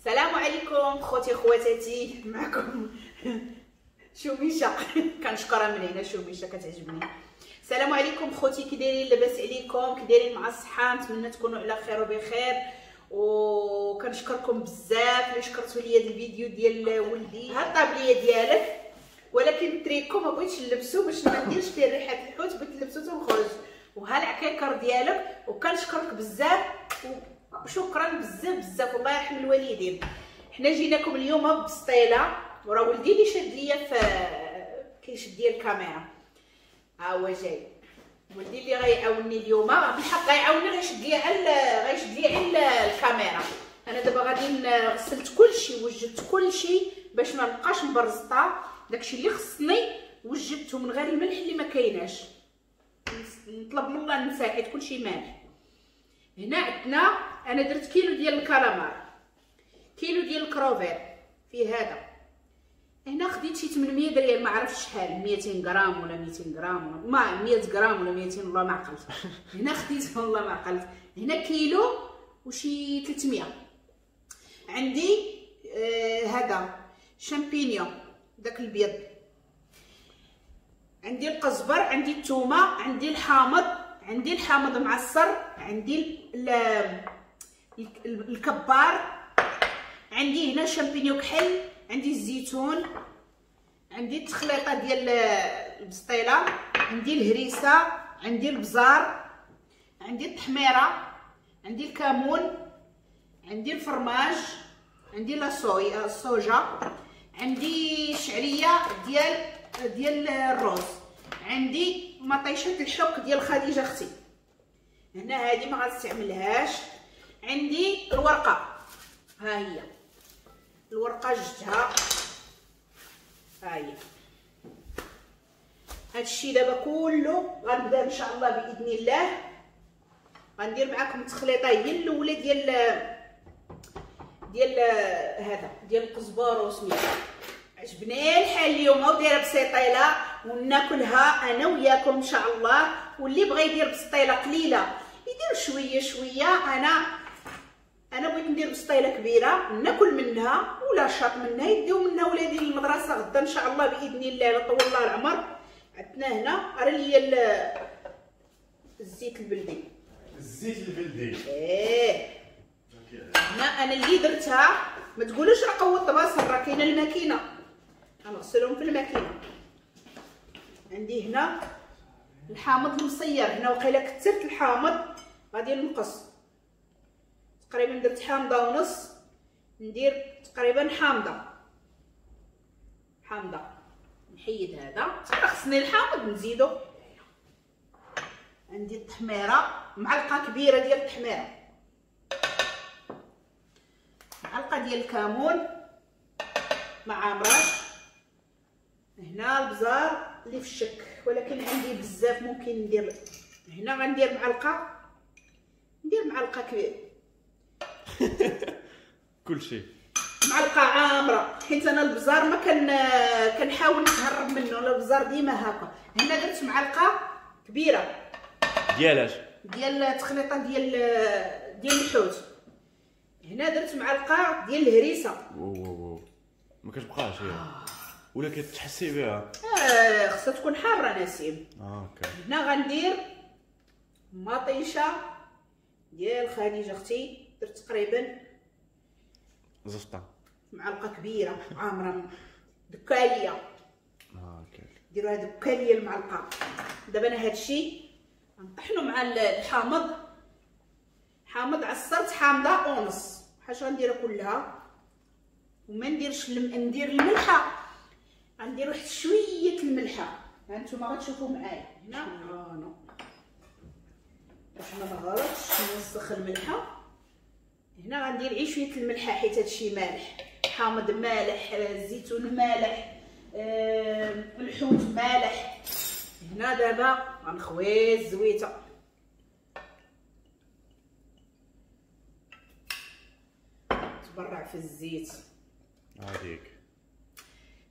السلام عليكم خوتي خواتاتي، معكم شوميشه كنشكرها من هنا، شوميشه كتعجبني. السلام عليكم خوتي، كي دايرين؟ لاباس عليكم؟ كي دايرين مع الصحة؟ نتمنى تكونوا على خير وبخير. وكنشكركم بزاف اللي شكرتوا لي هذا الفيديو ديال ولدي. ها الطابليه ديالك، ولكن التريكو ما بغيتش نلبسو باش ما نديرش فيه ريحه الحوت، بغيت نلبسو تنخرج. وها العكاكر ديالك، وكنشكرك بزاف وشكرا بزاف بزاف، والله يرحم الوالدين. حنا جيناكم اليوم بسطيله، وراه ولدي اللي شاد ليا في كيشد ليا الكاميرا، ها هو جاي ولدي اللي غيعاونني اليوم. بالحق غيعاونني، غيشد ليا على غيشد ليا على الكاميرا. انا دابا غادي غسلت كلشي، وجدت كلشي باش ما نبقاش مبرزطه. داكشي اللي خصني وجدته من غير الملح اللي ما كايناش، نطلب من الله ننسى حيت كلشي مالح. هنا عندنا انا درت كيلو ديال الكالامار، كيلو ديال الكروفير في هذا. هنا خديت شي 800 ريال، ما عرفتش شحال، 200 غرام ولا 200 غرام ولا ما 100 غرام ولا 200، والله ما عقلت. هنا خديت والله ما عقلت. هنا كيلو وشي 300. عندي هذا شامبينيون داك البيض، عندي القزبر، عندي الثومه، عندي الحامض، عندي الحامض معصر، عندي الكبار، عندي هنا شامبينيون كحل، عندي الزيتون، عندي التخليطه ديال البسطيله، عندي الهريسه، عندي البزار، عندي التحميره، عندي الكمون، عندي الفرماج، عندي la soya الصوجه، عندي شعرية ديال الروز، عندي مطيشه الحك ديال خديجة اختي. هنا هذه ما غنستعملهاش. عندي الورقة، ها هي الورقة جبتها، ها هي. هادشي دابا كله غنبدا ان شاء الله باذن الله. غندير معكم التخليطه هي الاولى ديال ديال هذا ديال القزبر وسميتو. عجبني الحال اليوم ودايره بسيطيله وناكلها انا وياكم ان شاء الله. واللي بغى يدير بسطيله قليله يدير شوية شوية. انا بغيت ندير بسطيله كبيرة ناكل منها ولا شاط منها، يديو منها ولادي للمدرسة غدا ان شاء الله باذن الله لا طول الله العمر. عندنا هنا راه ليا الزيت البلدي، الزيت البلدي ايه. هنا انا اللي درتها، ما تقولوش راه قوة البصل، راه كاينه الماكينة، غنغسلهم في الماكينة. عندي هنا الحامض المصير، هنا وقيله كثرت الحامض غادي نقص. تقريبا درت حامضه ونص، ندير تقريبا حامضه حامضه. نحيد هذا، خصني الحامض نزيدو. عندي التحميره، معلقه كبيرة ديال التحميره، معلقه ديال الكمون مع عمراش. هنا البزار اللي في الشك، ولكن عندي بزاف ممكن ندير. هنا غندير معلقه، ندير معلقه كبيرة كلشي، معلقه عامرة، حيت انا البزار ما كنحاول نتهرب منه، البزار ديما هكا. هنا درت معلقه كبيرة ديالاش، ديال التخليطه ديال الحوت. هنا درت معلقه ديال الهريسه. واو ما كتبقاش هي ولا كتحسي بها؟ خصها تكون حارة نسيم. okay. هنا غندير مطيشه ديال خديجة اختي، درت تقريبا زفطه، معلقه كبيرة عامرة دكاليه. okay ديروها دكاليه المعلقة. دابا انا هادشي غنطحنو مع الحامض. حامض عصرت حامضه ونص، حاجة غنديرها كلها وما نديرش ندير الملحة، غندير واحد شوية الملحة. ها نتوما غتشوفوا معايا هنا باش ما نغلطش نوسخ الملحة. هنا غندير غير شوية الملحة حيت هادشي مالح، حامض مالح، الزيتون مالح، الحوت مالح. هنا دابا غنخوي الزويته، تبرع في الزيت هذيك.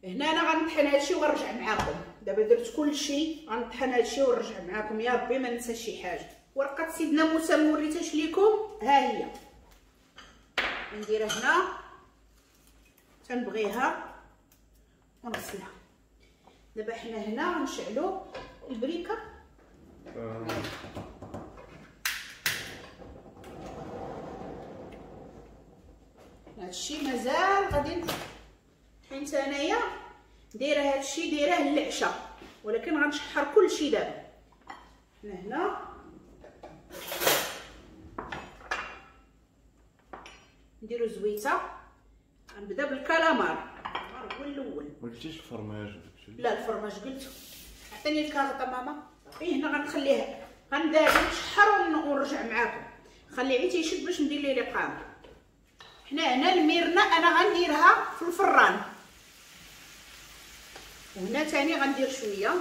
هنا انا غنطحن هادشي ونرجع معاكم. دابا درت كلشي، غنطحن هادشي ونرجع معاكم يا ربي ما ننسى شي حاجة. ورقة سيدنا موسى ما وريتهاش ليكم، ها هي. نديرها هنا. تنبغيها ونغسلها. دابا حنا هنا غنشعلو البريكه. هادشي مازال غادي، حيت انايا دايرة هادشي دايرة للعشاء، ولكن غنشحر كلشي دابا. حنا هنا نديرو زويته. غنبدا بالكالامار هو الاول. ما قلتيش الفرماج؟ لا الفرماج قلته. عطيني الكاغطه ماما. اي هنا غنخليها، غنبدا نشحر ونرجع معاكم. خليه عيتي يشد باش ندير ليه لقامه. حنا هنا الميرنا انا غنديرها في الفران، وهنا ثاني غندير شوية.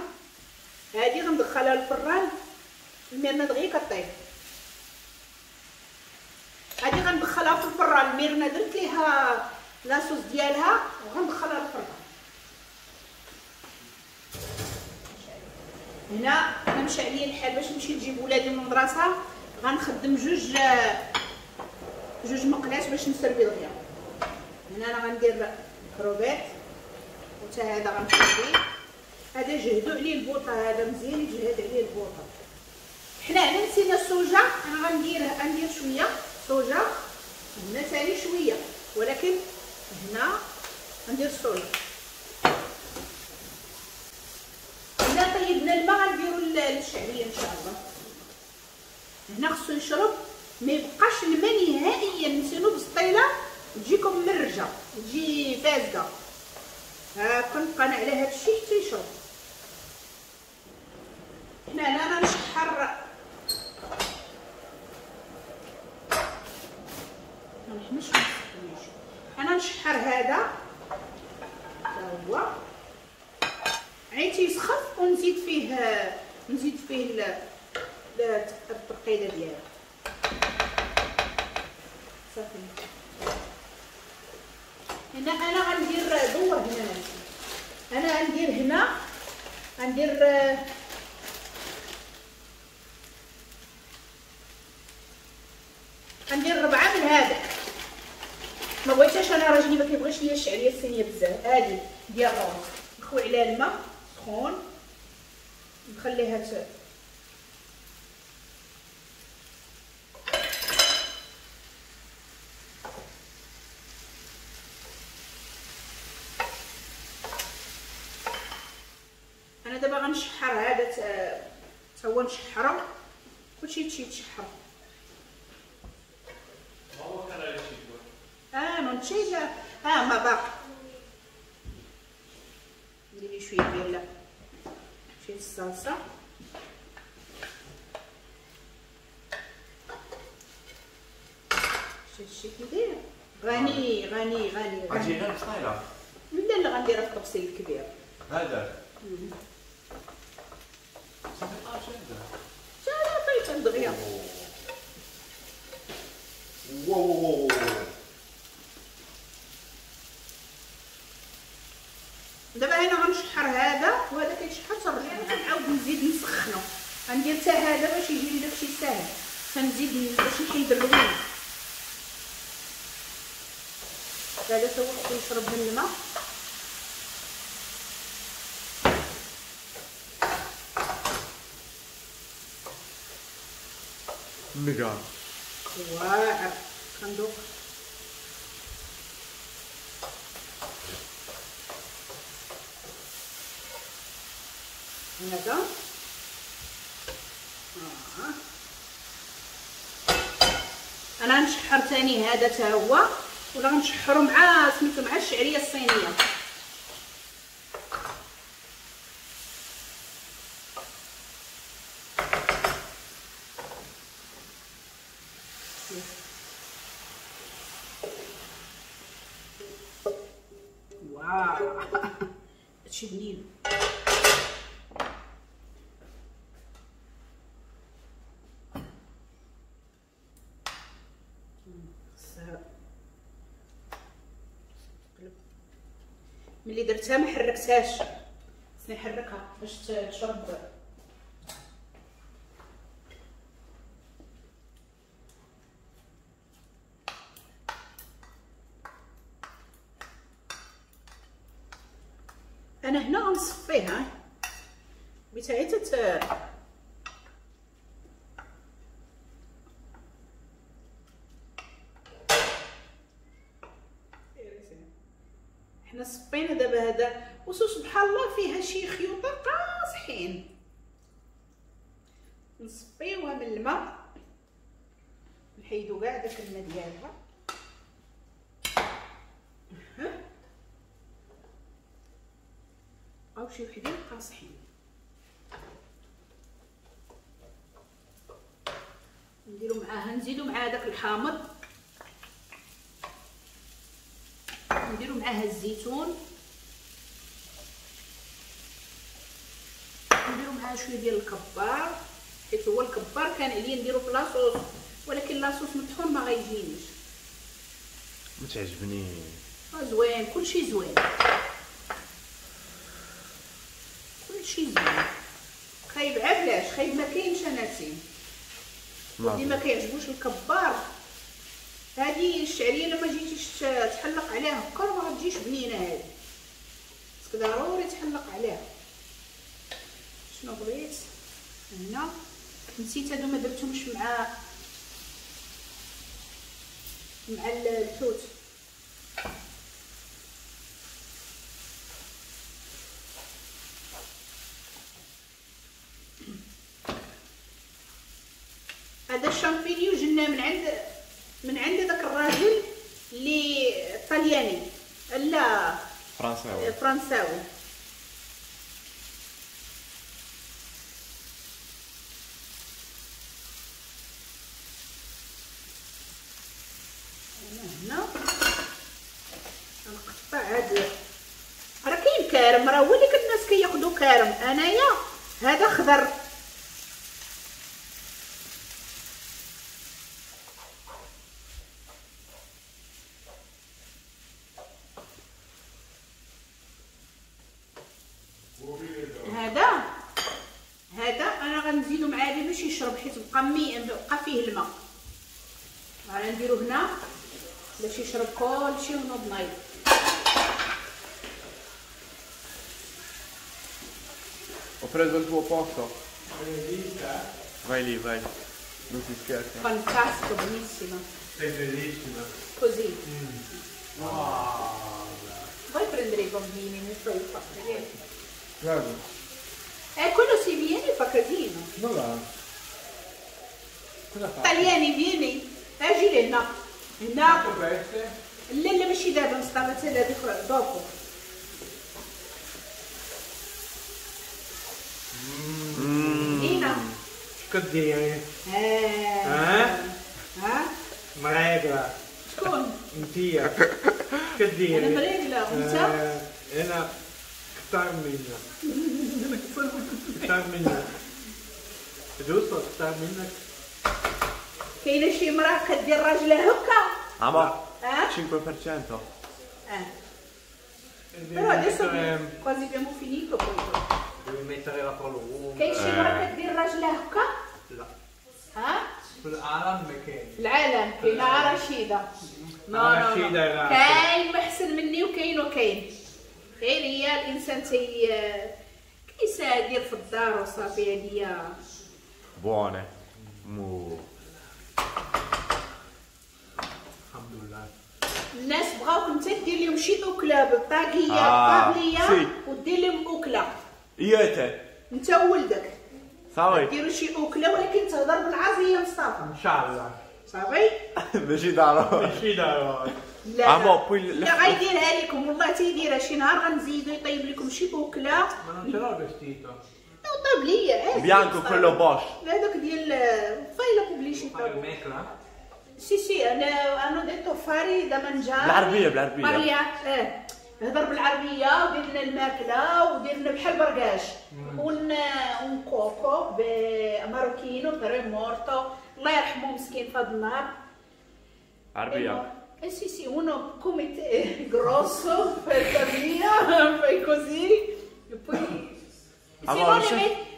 هادي غندخلها للفران، الميرنا دغيا كطيب. هادي غندخلها في الفران، الميرنا درت ليها la sauce ديالها وغندخلها للفران. هنا انا مشى عليا الحال باش نمشي نجيب ولادي من المدرسة، غنخدم جوج مقلات باش نسربي دغيا. هنا انا غندير كروفيت، وتا هذا غنخليه. هذا جهدوا عليه البوطه، هذا مزيان يجهد عليه البوطه. حنا هنا نسينا الصوجه، انا غندير شوية صوجه هنا ثاني شوية، ولكن هنا غندير الصوجه. هنا طيبنا الماء غنديرو الشعرية ان شاء الله. هنا خصو يشرب، ما يبقاش الماء نهائيا، نسينو بسطيله تجيكم مرجه، تجي فازقه. هاكا نبقى انا على هادشي حتى يشرب. هنا انا نشحر، انا نشحر هذا حتى هو عيتي يسخف، ونزيد فيه الترقيده ديالو. صافي. هنا انا غندير دور هنا، انا غندير هنا غندير 4 من هذا. ما بغيتهاش انا، راجلي ما كيبغيش ليا الشعرية الصينية بزاف. هادي ديال الروز نخوي عليها الماء سخون، نخليها انا دابا غنشحر هذا تا هو، نشحرو كلشي يتشحر. Non c'è già. Ma باقي نديري شوية ديال شوية الصلصه. شتي كيداير غني غني غني. غادي غير بسطيله؟ لا لا غنديرها في الطبسيل الكبير هذا. صافي طاب شي هذا. لا طيب دغيا. واو واو واو. دابا انا غنشحر هذا وهذا كيتشحر، تنرجع نعاود نزيد نسخنو. غندير حتى هذا باش يجي لي داكشي ساهل، تنزيد باش نحيد الروينه. هذا تا هو خصو يشرب من الماء. ميغا واعر. غندوق هذا. انا نشحر ثاني هذا تا هو، ولا غنشحرو مع سميتو مع الشعرية الصينية. واو هادشي بنين. ملي درتها ما حركتهاش، خصني نحركها باش تشرب. انا هنا غنصفيها بغيتها غير حنا صفينا دابا هذا. وسو سبحان الله فيها شي خيوطه قاصحين، نصفيوها من الماء، نحيدو كاع داك الماء ديالها. بقاو شي وحدين قاصحين، نديرو معاها، نزيدو مع داك الحامض، نديرو معاها الزيتون، نديرو معاها شوية ديال الكبار، حيت هو الكبار كان عليا نديرو في la sauce، ولكن la sauce مطحون ما غيجينيش. ما تعجبني. زوين، كلشي زوين، كلشي زوين. خايب علاش؟ خايب ما كاينش اناتي، اللي ما كيعجبوش الكبار. هذه الشعرية لما جيتيش تحلق عليها هكا ما غتجيش بنينه هذه، خصك ضروري تحلق عليها. شنو بغيت هنا؟ نسيت هادو ما درتهمش مع الحوت. هذا الشامبينيو جبناه من عند داك الراجل اللي طلياني، لا فرنساوي، فرنساوي. انا هنا نقطع هاد، راه كاين كارم، راه هو اللي الناس كياخذوا كارم. انايا هذا خضر، هذا انا غنزيدو مع هذا باش يشرب، حيت بقى فيه الماء. غادي نديرو هنا باش يشرب كلشي ونوض نايض. Ho preso il tuo posto. Vai lì, vai. Non si scherza. Fantastico, benissimo. Sei bellissima. Così. Wow. Vuoi prendere i bambini? Mi fai fare. Guarda. Quello si viene e fa casino. No, va. Cosa fa? Italiani, vieni. اجي لهنا. هنا. لا لا ماشي دابا، نستعمل حتى هذيك dopo. لينا. كديري؟ ها؟ ها؟ مريقلة. شكون؟ انتيا. كديري؟ انا مريقلة وانت؟ انا كثر منك. كثر منك. giusto كثر منك. كاينه شي مراة كدير راجلها هكا؟ عمر 5%. Però adesso quasi abbiamo finito poi. Devi mettere la prolunga. كاين شي مراة كدير راجلها هكا؟ لا. ها؟ في العالم ما كاين. في العالم كاينه رشيده. no no no. كاين ما احسن مني وكاين وكاين. غير هي الانسان تي كيسادير في الدار وصافي. هذه buone. مو الحمد لله. الناس بغاوك انت دير لهم شي اكله بالطاقيه الطابليه ودير لهم اكله. اياك انت وولدك صافي ديروا شي اكله، ولكن تهضر بالعربية مصطفى ان شاء الله. صافي ماشي ضروري، ماشي ضروري. لا لا غيديرها لكم والله تيديرها. شي نهار غنزيدو يطيب لكم شي اكله. ma non ce l'ho vestito. طيب ليا عادي bianco quello Bosch. لا داك ديال fai la pubblicità. Sì sì انا hanno detto fare da mangiare. بالعربية بالعربية. ماريا هضر بالعربية ودير لنا الماكلة ودير لنا بحال بركاش un cuoco marocchino però è morto الله يرحمه مسكين في هذا النهار. عربية. Sì sì uno come te grosso fai via fai così e poi sinon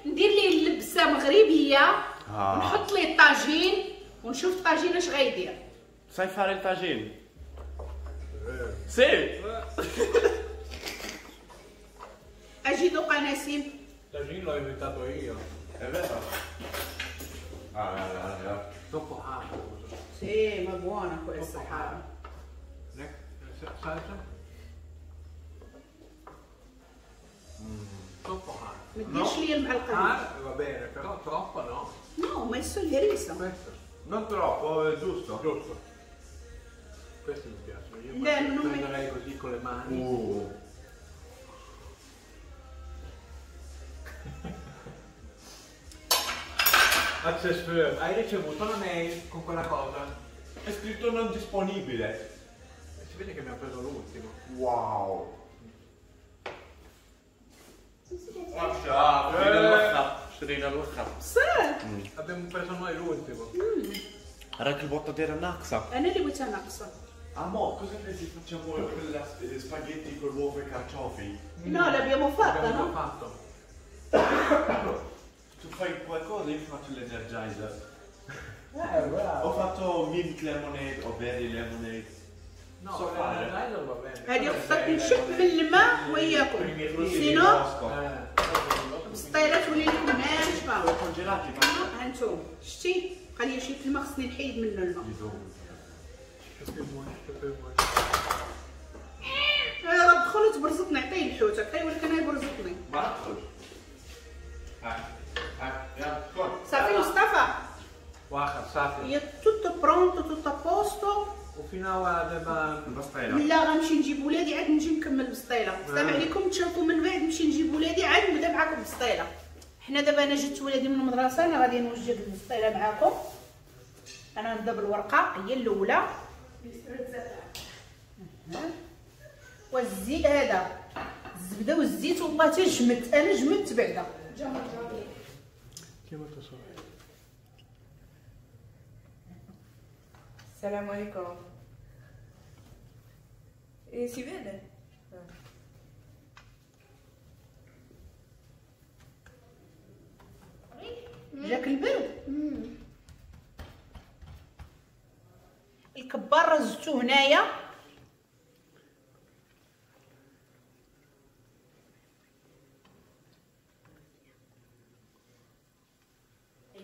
ندير ليه اللبسه مغربية ونحط ليه الطاجين ونشوف الطاجين اش غيدير. Sai fare il tagine? Sì. نسيم؟ الطاجين l'ho inventato io. È vero? Ah, ah, ah. Troppo hard. Sì, ma buona questa. Troppo hard. Salsa? Troppo hard. ما ديرش ليا المعلقة. Hard va bene, però troppo no. No, ho messo il riso. Questo. Non troppo, è giusto. Giusto. Questo mi piace. Io non prenderei così con le mani. Access Firm, hai ricevuto una mail con quella cosa? È scritto non disponibile. E si vede che mi ha preso l'ultimo. Wow. شرينا الاخر. صح. Abbiamo preso noi l'ultimo. راك البطة دايرة ناقصه. انا اللي بغيتها ناقصه. Amo, cosa pensi facciamo quella spaghetti con l'uovo e carciofi? No, l'abbiamo fatta, no? Fatto. Tu fai qualcosa, io faccio l'energizer. Bravo. Ho fatto mint lemonade o berry lemonade. No, l'energizer va bene. هذه خصك نشف من الماء وياكم. sinon بسطيله تولي لكم ناشفة. Congelati. ها انتم شتي بقى لي شي الماء خصني نحيد منه الماء. راه دخل وتبرزط نعطيه الحوت عطية ولكن انا يبرزطني. ما ادخل. ها ها يلا صافي مصطفى. واخا صافي. هي tutto pronto tutto a posto. وفينا دابا البسطيله. لا غنمشي نجيب ولادي عاد نجي نكمل البسطيله. السلام عليكم، تشوفوا من بعد نمشي نجيب ولادي عاد نبدا معاكم البسطيله. حنا دابا انا جبت ولادي من المدرسة، انا غادي نوجد البسطيله معاكم. انا نبدا بالورقة هي الاولى. والزيت هذا الزبدة والزيت والله حتى جمدت، انا جمدت بعدا. السلام عليكم. E si vede? جاك البرد؟ الكبار رزتو هنايا.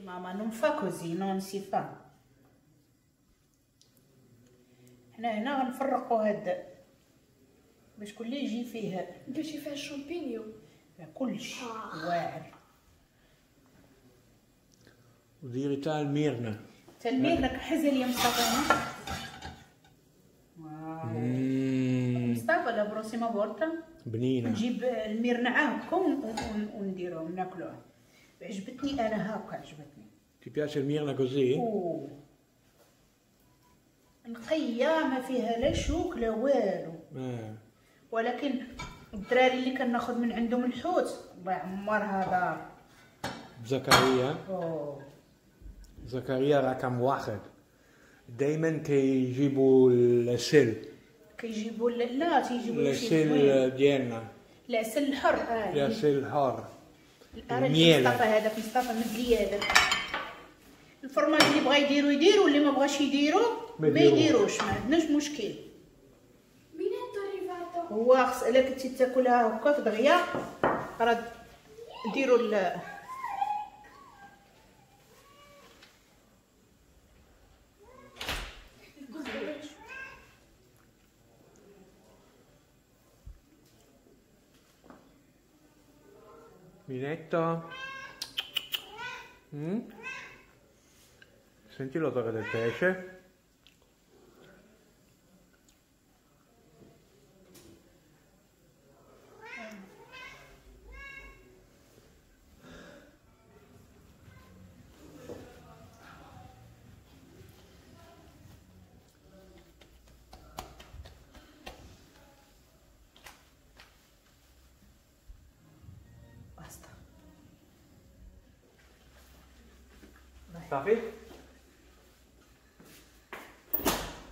ماما non fa così, non si fa. حنا هنا غنفرقو هاد باش كل يجي فيه درتي فيها الشامبينيو كلشي واعر. وديري تا الميرنا. تا الميرنا كحزه ليا مصطفى. مصطفى la prossima volta بنينه نجيب الميرنا هاكا ونديروه ناكلوه. عجبتني انا هاكا عجبتني. Ti piace الميرنا così؟ نقية ما فيها لا شوك لا والو. ولكن الدراري اللي كناخذ من عندهم الحوت الله يعمرها دار. زكريا زكريا رقم واحد دائما كيجيبوا العسل. كيجيبوا لا تيجيبوا العسل ديالنا، العسل الحر. العسل الحر. مصطفى هذاك مصطفى مد لي هذاك الفرماج اللي بغا يديرو يديرو واللي ما بغاش يديرو ما يديروش، ما عندناش مشكل. هو خص الا كنتي تاكلها هكا في دغيا راه ديروا Minetto. Senti l'odore del pesce? Basta. صافي؟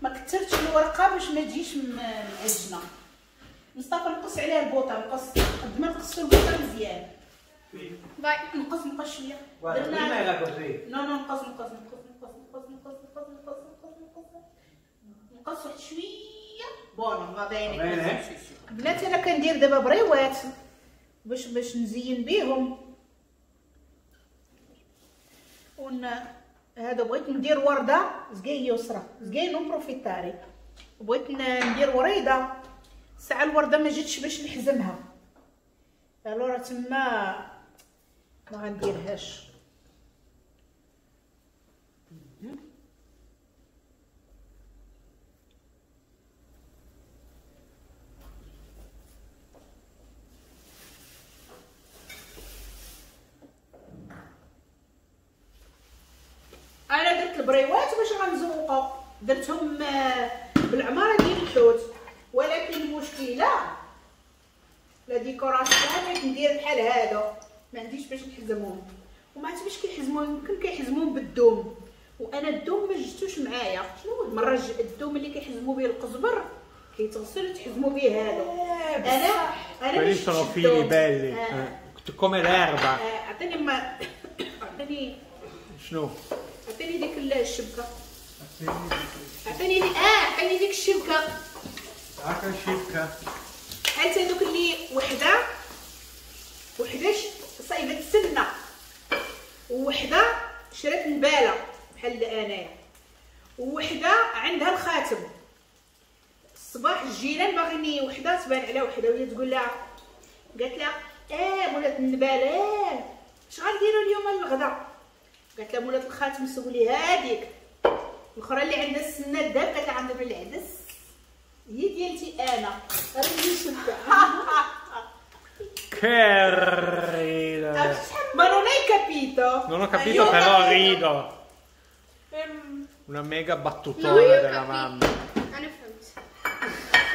ما كثرتش الورقة باش ما تجيش معجنه. مصطفى نقص عليها البوطه، نقص قد ما نقصوا البوطه مزيان. باي نقص نقص شوية. درنا no no نقص نقص نقص نقص نقص نقص نقص نقص نقص نقص واحد شوية. buono va bene. بنات انا كندير دابا بريوات باش نزين بيهم. ون هذا بغيت ندير ورده زكاي يسرى زكاي non approfittare، بغيت ندير وريده، ساعة الورده ما جاتش باش نحزمها، alors تما ما غنديرهاش. انا درت البريوات باش غنزوقو، درتهم بالعماره ديال الحوت، ولكن المشكلة la décoration بغيت ندير بحال هادو ما عنديش باش نحزمهم، وما عرفتش باش كيحزموهم، يمكن كيحزموهم بالدوم، وانا الدوم ما جبتوش معايا. شنو المرة الدوم اللي كيحزموا به القزبر كيتغسل وتحزموا به هادو. انا quelli sono fili belli come l'erba. عطيني ما عطيني شنو؟ عطيني ديك الشبكة، عطيني عطيني ديك الشبكة. هاكا الشبكة حتى هذوك اللي وحده صايبه السنة ووحده شرات نباله بحال انايا، ووحده عندها الخاتم. الصباح الجيران باغيني وحده تبان على وحده، وهي تقول لها، قالت لها مولات النباله اش غنديروا اليوم للغدا؟ قالت لها مولات الخاتم سولي هذيك الاخرى اللي عندها السنة الذهب، قالت لها عندها العدس هي ديالتي انا. راني شبكة. Che ridere. Ma non hai capito? Non ho capito, però rido. Una mega battutona della mamma. انا فهمت.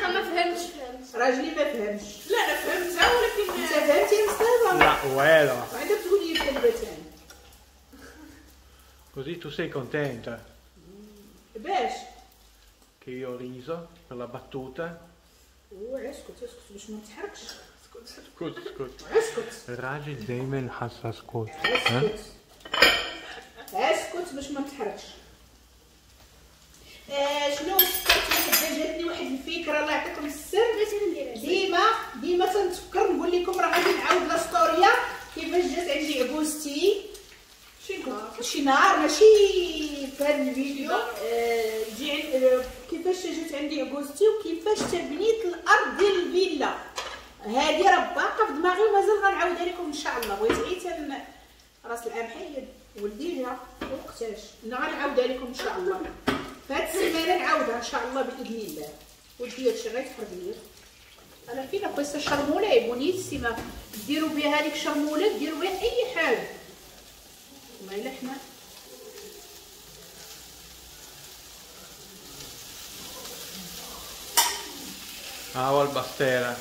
ما فهمتش. فهمت. راجلي ما فهمش. لا انا فهمتها، ولكن انت فهمتي يا مصطفى؟ لا والو. وعندك تقول لي كلمة ثانية. Così tu sei contenta? باش؟ Che io ho riso per la battuta. اسكت اسكت باش ما تحركش. اسكت اسكت اسكت. الراجل دايما حاسس اسكت. اسكت اسكت باش ما تحركش. شنو فكرت واحد، جاتني واحد الفكرة الله يعطيكم السر. ديما ديما تنتفكر نقول لكم راه غادي نعاود la storia كيفاش جات عندي عكوزتي شي نهار، ماشي في هذا الفيديو. كيفاش جات عندي عكوزتي وكيفاش تبنيت الارض ديال الفيلا. هذه راه باقا في دماغي ومازال غنعاودها لكم ان شاء الله. بغيت عيت راس العام حيد ولدي جا وقتاش انا غنعاودها لكم ان شاء الله فهاد السيمانة، نعاودها ان شاء الله باذن الله. ودي هادشي غيتحرق ليا. انا فينا questa chermoula è buonissima، ديروا بها هذيك الشرموله، ديروا بها اي حاجة. والله الا حنا ها هو البسطيله،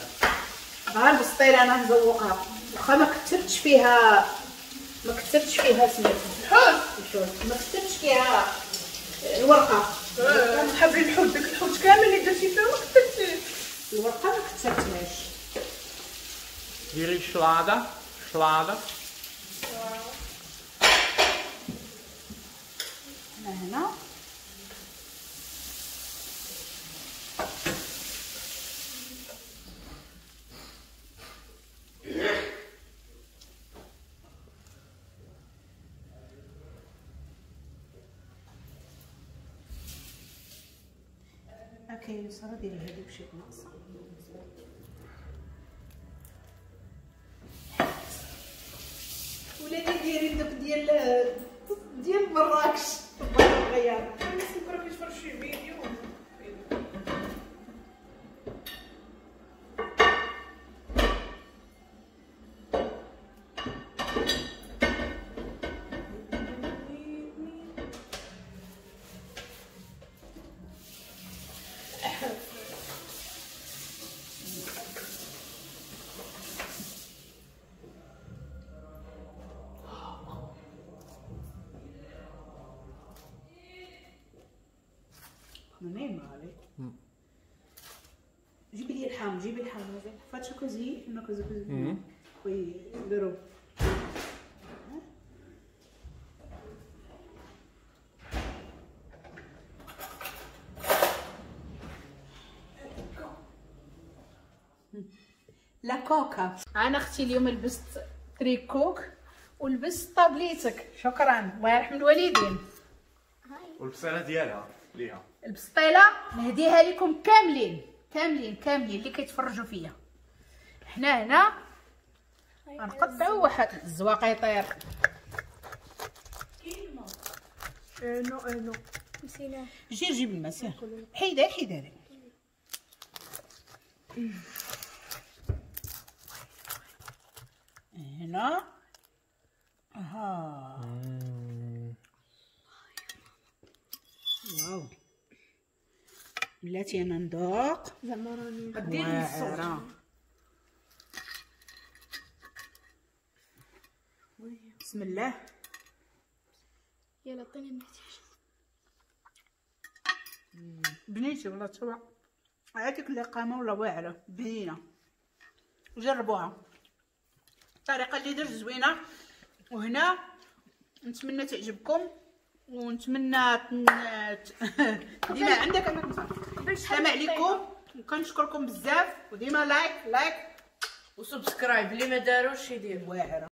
ها البسطيله انا نزوقها، واخا ما كثرتش فيها، ما كثرتش فيها سميتو الحوت، الحوت ما كثرتش فيها الورقة. نحب الحوت، داك الحوت كامل اللي درتي فيه ما كثرتيش الورقة، ما كثرتهاش. ديري شلاضه شلاضه هنا. okay ساره ديري هذيك شي ناقصه. ولا اللي دايرين دوك ديال مراكش الغيار. راه كيتفرج شي فيديو. Non è male. جيبي لي الحامض، جيبي الحامض. Faccio così, una cosa così. Poi però. la coca. انا اختي اليوم لبست تريكوك ولبست طابليتك، شكرا الله يرحم الوالدين. والبصيله ديالها ليها البسطيله نهديها لكم كاملين كاملين كاملين اللي كيتفرجوا فيا. حنا هنا غنقطعوا واحد الزواق يطير. no no نسيناه. جي جيب الماء سير، حيدها حيدها. هنا اها واو بلاتي انا ندوق زعما راني دير الصوت. بسم الله. يلا عطيني النتيجة. بنيتي والله توا هذيك اللقامه ولا واعرة بنينه، جربوها الطريقة اللي درت زوينة. وهنا نتمنى تعجبكم ونتمنى ديما عندك انا السلام عليكم وكنشكركم بزاف، وديما like like و subscribe اللي ما داروش يدير واعرة.